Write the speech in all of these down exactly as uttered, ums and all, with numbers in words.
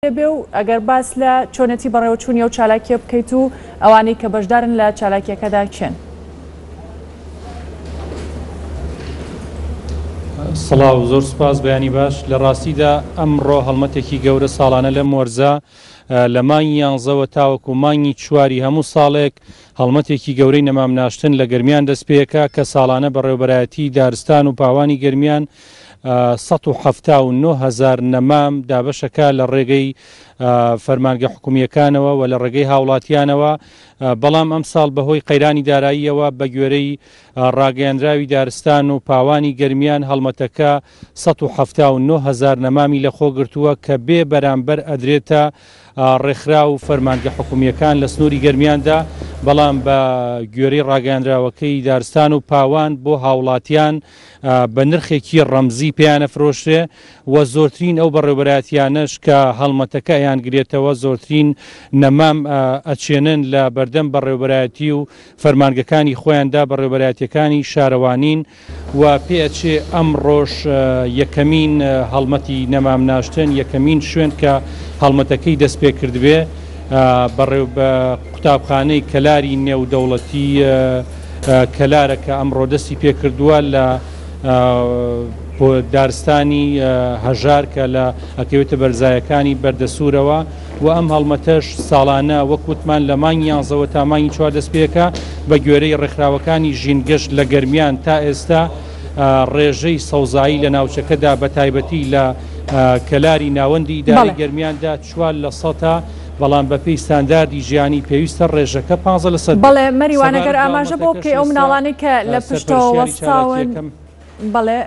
بێ و ئەگەر باس لە چۆنێتی بەڕێوەچوونی ئەو چالاکیە بکەیت و ئەوانەی کە بەشدارن لە چالاکیەکەدا کێن؟ سڵاو، زۆر سوپاس، بەیانی باش. لە ڕاستیدا ئەمڕۆ هەڵمەتێکی گەورە ساڵانە لەم وەرزە لە مانگی یانزەوە تاوەکو مانگی چواری هەموو ساڵێک هەڵمەتێکی گەورەی نەمام ناشتن لە گەرمیان دەست پێکا کە ساڵانە بەڕێوبەرایەتی دارستان و پاوانی گەرمیان سەد و حەفتا و نۆ هەزار نەمام دابەشەکە لە ڕێگەی فەرمانگە حکومیەکانەوە و لە ڕێگەی هاوڵاتیانەوە، بەڵام ئەم ساڵ بەهۆی قەیرانی داراییەوە بە گوێرەی ڕاگەیەنراوی دارستان و پاوانی گەرمیان هەڵمەتەکە سەد و حەفتا و نۆ هەزار نەمامی لەخۆ گرتووە کە بێ بەرامبەر ئەدرێتە ڕێکخرا و فەرمانگە حکومیەکان لە سنووری گەرمیاندا، بەڵام بە گوێرەی ڕاگەیەنراوەکەی دارستان و پاوان بۆ هاوڵاتیان بە نرخێکی ڕەمزی پێیانە فرۆشرێ و زۆرترین ئەو بەڕێوبەرایەتیانەش کە هەڵمەتەکە ئەیانگرێتەوە زۆرترین نەمام ئەچێنن لە بەردەم بەڕێوبەرایەتی و فەرمانگەکانی خۆیاندا بەڕێوبەرایەتیەکانی شارەوانین و پێئەچێ ئەمڕۆش یەکەمین هەڵمەتی نەمام ناشتن، یەکەمین شوێن کە هەڵمەتەکەی دەست پێ کردبێ بەڕێو بە قوتابخانەی کەلاری نێودەوڵەتی کەلارە کە ئەمڕۆ دەستی پێکردووە لە دارستانی هەژار کە لە ئەکەوێتە بەرزایەکانی بەردەسوورەوە و ئەم هەڵمەتەش ساڵانە وەک وتمان لە مانگی یانزەوە تا مانگی چوار دەست پێکە بە گوێرەی ڕێکخراوەکانی ژینگەش لە گەرمیان تا ئێستا ڕێژەی سەوزایی لە ناوچەکەدا بە تایبەتی لە کەلاری ناوەندی ئیداری گەرمیاندا چوار لە سەتا، بەڵام بەپێی ستانداردی ژیانی پێویستە ڕێژەکە پانزە لە سەد. بەڵێ مەریوان، ئەگەر ئاماژە بۆ بکەی ئەو مناڵانەی کە لە پشتەوە وەستاون، بەڵێ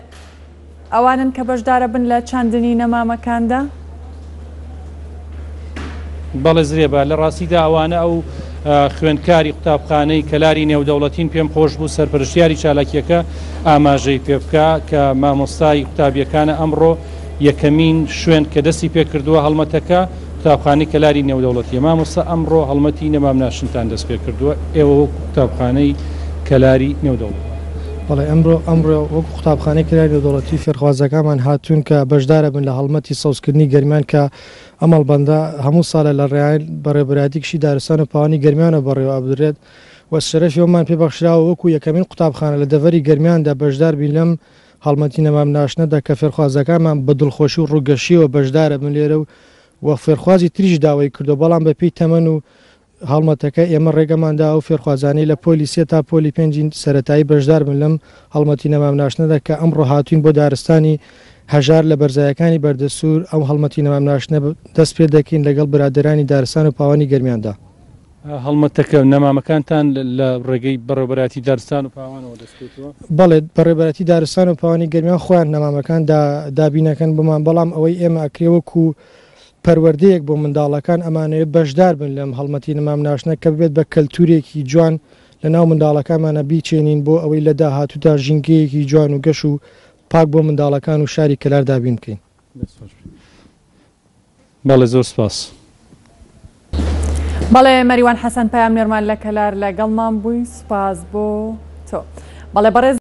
ئەوانن کە بەشدارە بن لە چاندنی نەمامەکاندا؟ بەڵێ زرێبە، لە ڕاستیدا ئەوانە ئەو خوێندکاری قوتابخانەی کەلاری نێودەوڵەتین. پێم خۆش بوو سەرپەرشتیاری چالاکیەکە ئاماژەی پێ بکە کە مامۆستای قوتابیەکانە ئەمڕۆ یەکەمین شوێن کە دەستی پێکردووە هەڵمەتەکە قوتابخانەی کەلاری نێودەوڵەتیە. مامۆستا ئەمڕۆ هەڵمەتی نەمام ناشتنتان دەست پێکردووە، ئێوە وەکو قوتابخانەی کەلاری نێودەوڵەتی؟ بەڵێ ئەمڕۆ ئەمڕۆ وەکو قوتابخانەی کەلاری نێودەوڵەتی فێرخوازەکانمان هاتوون کە بەشدارە بن لە هەڵمەتی سەوزکردنی گەرمیان کە ئەم هەڵبەندە هەموو ساڵە لە ڕێیان بەڕێوەبەرایەتی کشی دارستان و پاوانی گەرمیانەوە بەڕێوە ئەبدرێت و شەرەفی ئەومان پێبەخشراوە وەکو یەکەمین قوتابخانە لە دەڤەری گەرمیاندا بەشدار بین لەم هەڵمەتی نەمام ناشتنەدا کە فێرخوازەکانمان بە دڵخۆشی و ڕووگەشیەوە بەشدارە بن لێرە و و فێرخوازی تریش داوای کردو، بەڵام بەپێی تەمەن و هەڵمەتەکە ئێمە ڕێگەماندا ئەو فێرخوازانەی لە پۆلی سێ تا پۆلی پێنجی سەرەتایی بەشدار بن لەم هەڵمەتی نەمام ناشتنەدا کە ئەمڕۆ هاتوین بۆ دارستانی هەژار لە بەرزایەکانی بەردەسوور. ئەو هەڵمەتی نەمام ناشتنە دەست پێ دەکەین لەگەڵ برادەرانی دارستان و پاوانی گەرمیاندا. هەڵمەتەکە نەمامەکانتان لە ڕێگەی بەڕێوەبەرایەتی دارستان و پاوانەوە دەست پێکردووە؟ بەڵێ، بەڕێوەبەرایەتی دارستان و پاوانی گەرمیان خۆیان نەمامەکان دابینەکەن بۆمان، بەڵام ئەوەی ئێمە ئەکرێ وەکو پەروەردەیەک بۆ منداڵەکان ئەمانەوێت بەشدار بن لەم هەڵمەتی نەمام ناشتنە کە ببێت بە کەلتورێکی جوان لە ناو منداڵەکانمانە بیچێنین بۆ ئەوەی لە داهاتوودا ژینگەیەکی جوان و گەش و پاک بۆ منداڵەکان و شاری کەلار دابین بکەین. بەڵێ زۆر سپاس. بەڵێ مەریوان حەسەن پەیامنێرمان لە کەلار لەگەڵمان بووی، سپاس بۆ تۆ. بەڵێ بەڕێز